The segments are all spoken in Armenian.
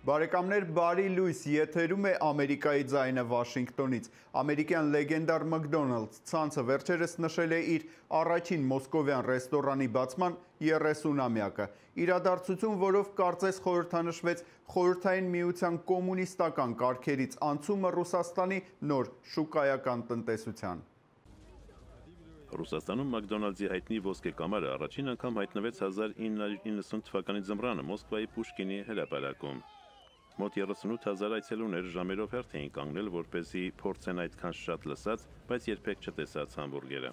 Բարեկամներ, բարի լույս, եթերում է Ամերիկայի ձայնը Վաշինգտոնից։ Ամերիկյան լեգենդար McDonald's ցանցը վերջերս նշել է իր առաջին մոսկովյան ռեստորանի բացման 30-ամյակը։ Իրադարձություն, որով կարծես խորհրդանշվեց Խորհրդային Միության կոմունիստական կարգերից անցումը Ռուսաստանի նոր շուկայական տնտեսության։ Ռուսաստանում McDonald's-ի հայտնի ոսկե կամարը առաջին անգամ հայտնվեց 1990 թվականի ձմռանը Մոսկվայի Պուշկինի հրապարակում։ Մոտ 38,000 այցելուներ ժամերով հերթ էին կանգնել, որպեսզի փորձեն այդքան շատ լսած, բայց երբեք չտեսած համբուրգերը։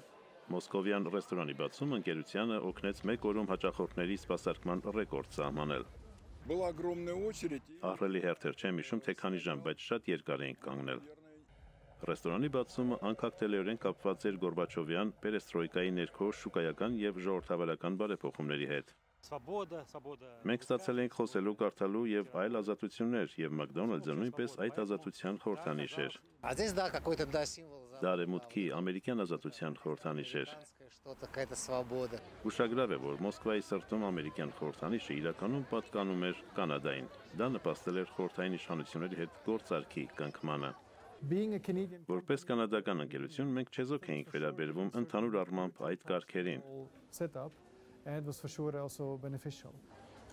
Մոսկովյան ռեստորանի բացումը ընկերությանը օգնեց մեկ օրում հաճախորդների սպասարկման ռեկորդ սահմանել։ Ահռելի հերթեր չեմ հիշում, թե քանի ժամ, բայց շատ երկար էին կանգնել։ Ռեստորանի բացումը անկախտելիորեն կապված էր Գորբաչովյան պերեստրոյկայի ներքո շուկայական եւ ժողովրդավարական բարեփոխումների հետ։ Մենք ստացել ենք խոսելու, կարդալու եւ այլ ազատություններ, եւ McDonald's-ը նույնպես այդ ազատության խորհրդանիշ էր։ Դա արևմուտքի ամերիկյան ազատության խորհրդանիշ էր։ Ուշագրավ է, որ Մոսկվայի սրտում ամերիկյան խորհրդանիշը իրականում պատկանում էր Կանադային։ Դա նպաստել էր խորհրդային իշխանությունների հետ գործարքի կնքմանը։ Որպես կանադական ընկերություն մենք չեզոք էինք վերաբերվում ընդհանուր առմամբ այդ կարգերին։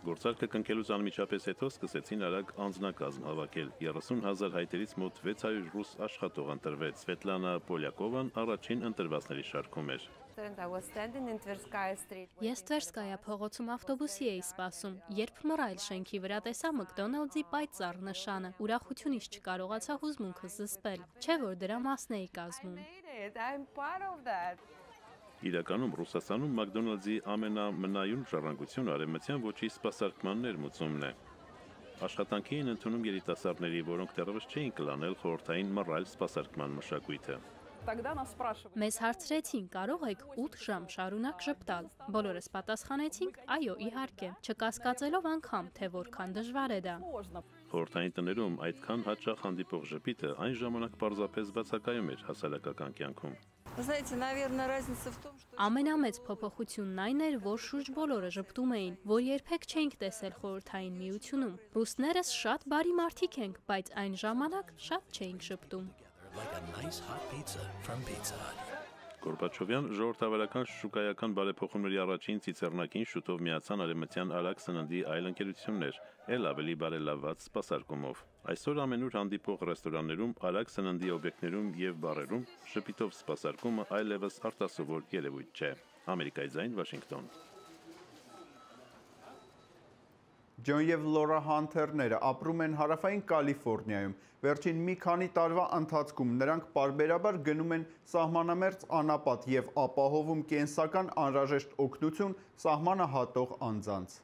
Գործարքը կնքելուց անմիջապես հետո սկսեցին արագ անձնակազմ հավաքել։ 30,000 հայտերից մոտ 600 ռուս աշխատող ընտրվեց։ Սվետլանա Պոլյակովան առաջին ընտրվածների շարքում էր։ Ես Տվերսկայա փողոցում ավտոբուսի էի սպասում, երբ մռայլ շենքի վրա տեսա McDonald's-ի պայծառ նշանը։ Ուրախությունից չկարողացա հուզմունքս զսպել, չէ՞ որ դրա մասն էի կազմում։ Իրականում Ռուսաստանում McDonald's-ի ամենամնայուն ժառանգությունը արևմտյան ոճի սպասարկման ներմուծումն է։ Աշխատանքի էին ընդունում երիտասարդների, որոնք դեռևս չէին կլանել խորհրդային մռայլ սպասարկման մշակույթը։ Մեզ հարցրեցին, կարող եք 8 ժամ շարունակ ժպտալ։ Բոլորս պատասխանեցինք, այո, իհարկե, չկասկածելով անգամ, թե որքան դժվար է դա։ Խորհրդային տներում այդքան հաճախ հանդիպող ժպիտը այն ժամանակ պարզապես բացակայում էր հասարակական կյանքում։ Ամենամեծ փոփոխությունն այն էր, որ շուրջ բոլորը ժպտում էին, որ երբեք չէինք տեսել Խորհրդային Միությունում։ Ռուսներս շատ բարի մարդիկ ենք, բայց այն ժամանակ շատ չէինք ժպտում։ Գորբաչովյան ժողովրդավարական շուկայական բարեփոխումների առաջին ցիցեռնակին շուտով միացան արևմտյան արագ սննդի այլ ընկերություններ, ել ավելի բարելավված սպասարկումով։ Այսօր ամենուր հանդիպող ռեստորաններում, արագ սննդի օբյեկտներում եւ բարերում շփիտով սպասարկումը այլևս արտասովոր երևույթ չէ։ Ամերիկայի ձայն, Վաշինգտոն։ Ջոն և Լորա Հանթերները ապրում են հարավային Կալիֆոռնիայում։ Վերջին մի քանի տարվա ընթացքում նրանք պարբերաբար գնում են սահմանամերձ անապատ և ապահովում կենսական անհրաժեշտ օգնություն սահմանը հատող անձանց։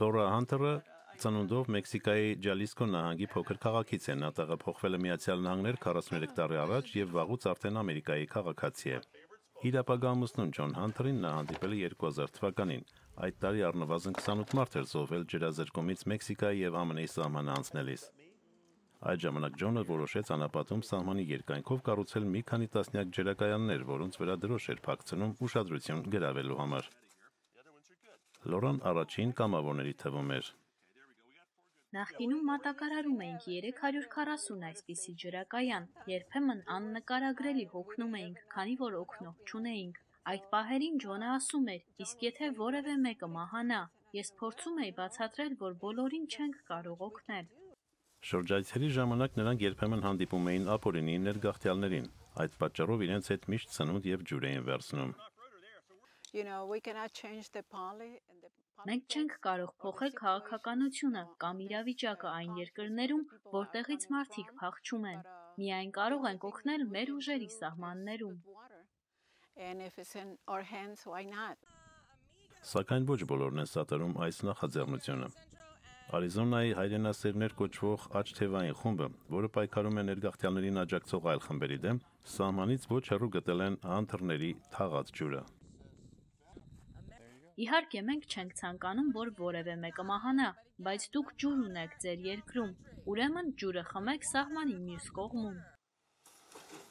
Լորա Հանթերը ծնունդով Մեքսիկայի Ջալիսկո նահանգի փոքր քաղաքից է, նա տեղափոխվել է Միացյալ Նահանգներ 43 տարի առաջ և վաղուց արդեն Ամերիկայի քաղաքացի է։ Իր ապագա ամուսնուն Ջոն Հանթերին նա հանդիպել է 2000 թվականին։ Այդ տարի առնվազն 28 մարդ էր զոհվել ջրազրկումից Մեքսիկայի և ԱՄՆ-ի սահմանը անցնելիս։ Այդ ժամանակ Ջոնը որոշեց անապատում սահմանի երկայնքով կառուցել մի քանի տասնյակ ջրակայաններ, որոնց վրա դրոշ էր փակցնում ուշադրություն գրավելու համար։ Լորան առաջին կամավորների թվում էր։ Նախկինում մատակարարում էինք 340 այսպիսի ջրակայան, երբեմն աննկարագրելի հոգնում էինք, քանի որ օգնող չունեինք։ Այդ պահերին Ջոնը ասում էր, իսկ եթե որևէ մեկը մահանա, ես փորձում էի բացատրել, որ բոլորին չենք կարող օգնել։ Շրջայցերի ժամանակ նրանք երբեմն հանդիպում էին ապօրինի ներգաղթյալներին։ Այդ պատճառով իրենց հետ միշտ սնունդ և ջուր էին վերցնում։ Մենք չենք կարող փոխել քաղաքականությունը կամ իրավիճակը այն երկրներում, որտեղից մարդիկ փախչում են։ Միայն կարող ենք օգնել մեր ուժերի սահմաններում։ Սակայն ոչ բոլորն են սատարում այս նախաձեռնությունը։ Արիզոնայի հայրենասերներ կոչվող աչթևային խումբը, որը պայքարում է ներգաղթյալներին աջակցող այլ խմբերի դեմ, սահմանից ոչ հեռու գտել են Հանթերների թաղած ջուրը։ Իհարկե, մենք չենք ցանկանում, որ որևէ մեկը մահանա, բայց դուք ջուր ունեք ձեր երկրում, ուրեմն ջուրը խմեք սահմանի մյուս կողմում։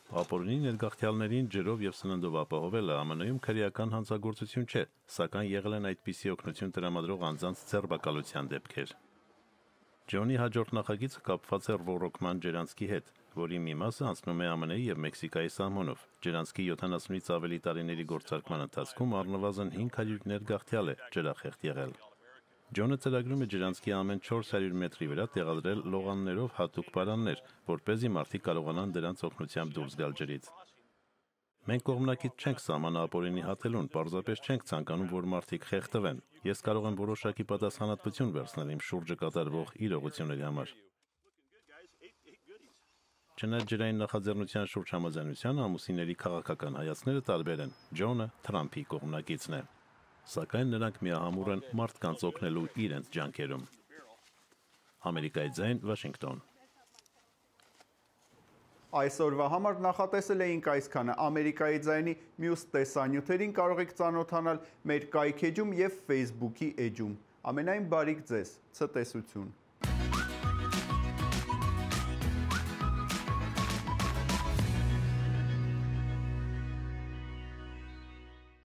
Ապօրինի ներգաղթյալներին ջրով եւ սննդով ապահովելը ԱՄՆ-ում քրեական հանցագործություն չէ, սակայն եղել են այդպիսի օգնություն տրամադրող անձանց ձերբակալության դեպքեր։ Ջոնի հաջորդ նախագիծը կապված է ռոռոկման ջրանցքի հետ, որի մի մասը անցնում է ԱՄՆ-ի եւ Մեքսիկայի սահմանով։ Ջրանցքի 70-ից ավելի տարիների գործարկման ընթացքում առնվազն 500 ներգաղթյալ է ջրախեղտ եղել։ Ջոնը ծրագրում է ջրանցքի ամեն 400 մետրի վրա տեղադրել լողաններով հատուկ պարաններ, որպեսզի մարդիկ կարողանան դրանց օգնությամբ դուրս գալ ջրից։ Մենք կողմնակից չենք սահմանապօրինի հատելուն, պարզապես չենք ցանկանում, որ մարդիկ խեղդվեն։ Ես կարող եմ որոշակի պատասխանատվություն վերցնել իմ շուրջը կատարվող իրողությունների համար։ Չնայած ջրային նախաձեռնության շուրջ համաձայնության ամուսինների քաղաքական հայացքները տարբեր են։ Ջոնը Թրամփի կողմնակիցն է, սակայն նրանք միահամուռ են մարդկանց օգնելու իրենց ջանքերում։ Ամերիկայի ձայն, Վաշինգտոն։ Այսօրվա համար նախատեսել էինք այսքանը։ Ամերիկայի ձայնի մյուս տեսանյութերին կարող եք ծանոթանալ մեր կայք էջում և Facebook-ի էջում։ Ամենայն բարիք ձեզ, ցտեսություն։